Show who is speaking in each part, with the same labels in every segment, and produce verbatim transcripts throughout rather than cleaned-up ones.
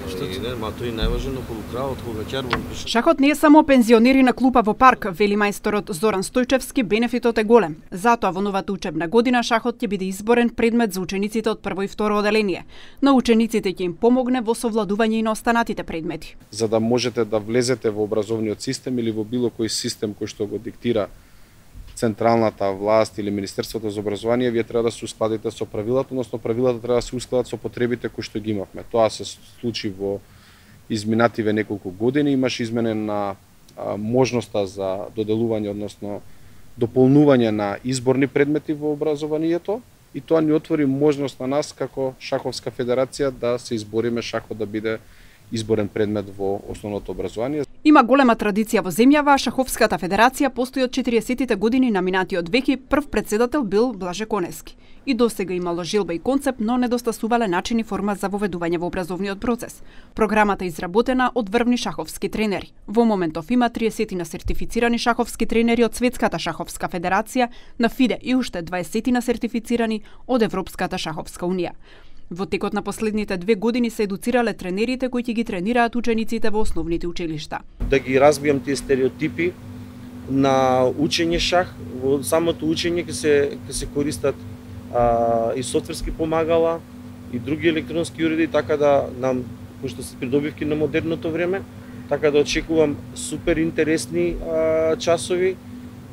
Speaker 1: сега иде, ма тој најважно полукраот кога ќарбон пише.
Speaker 2: Шахот не е само пензионери на клупа во парк, вели мајсторот Зоран Стојчевски, бенефитот е голем. Затоа во новата учебна година шахот ќе биде изборен предмет за учениците од прво и второ оделение. На учениците ќе им помогне во совладување и на останатите предмети.
Speaker 3: За да можете да влезете во образовниот систем или во било кој систем кој што го диктира централната власт или Министерството за образование, вие треба да се ускладите со правилата, односно правилата треба да се ускладат со потребите кои што ги имавме. Тоа се случи во изминативе неколку години, имаше изменена а, можноста за доделување, односно дополнување на изборни предмети во образованието, и тоа ни отвори можност на нас како шаховска федерација да се избориме шахот да биде изборен предмет во основното образование.
Speaker 2: Има голема традиција во земјава, Шаховската федерација постои од четириесеттите години, на минатиот веки прв председател бил Блаже Коневски. И досега имало жилба и концепт, но недостасувале начин и форма за воведување во образовниот процес. Програмата е изработена од врвни шаховски тренери. Во моментов има триесет сертифицирани шаховски тренери од Светската шаховска федерација, на ФИДЕ и уште дваесет сертифицирани од Европската шаховска унија. Во текот на последните две години се едуцирале тренерите кои ќе ги тренираат учениците во основните училишта.
Speaker 1: Да ги разбијам тие стереотипи на учење шах, во самото учење ќе се ќе се користат а, и софтверски помагала и други електронски уреди, така да нам, пошто се придобивки на модерното време, така да очекувам супер интересни а, часови.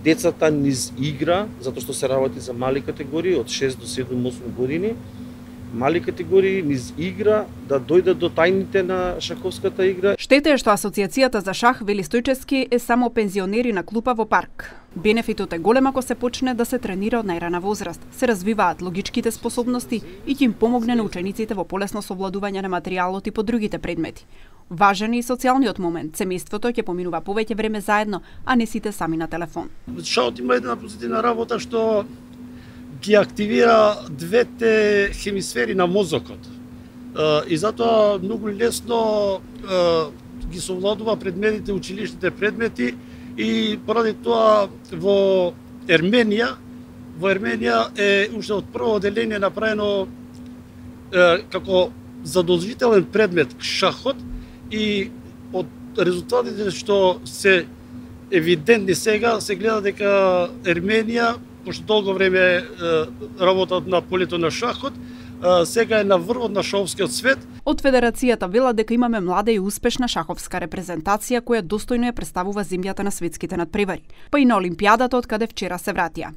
Speaker 1: Децата низ игра, затоа што се работи за мали категории од шест до седум-осум години. Мали категории низ игра да дојдат до тајните на шаховската игра.
Speaker 2: Штета е што Асоциацијата за шах, вели Стојчевски, е само пензионери на клупа во парк. Бенефитот е голем ако се почне да се тренира од најрана возраст, се развиваат логичките способности и ќе им помогне на учениците во полесно совладување на материјалот и по другите предмети. Важен е и социјалниот момент. Семејството ќе поминува повеќе време заедно, а не сите сами на телефон.
Speaker 4: Шахот има една позитивна работа што ги активира двете хемисфери на мозокот. И затоа многу лесно ги совладува предметите, училишните предмети, и поради тоа во Ерменија, во Ерменија е уште од прво оделение направено како задолжителен предмет шахот, и од резултатите што се евидентни сега, се гледа дека Ерменија, пошто долго време работат на полето на шахот, сега е на врвот на шаховскиот свет.
Speaker 2: Од Федерацијата велат дека имаме млада и успешна шаховска репрезентација која достојно ја представува земјата на светските надпревари, па и на Олимпијадата од каде вчера се вратија.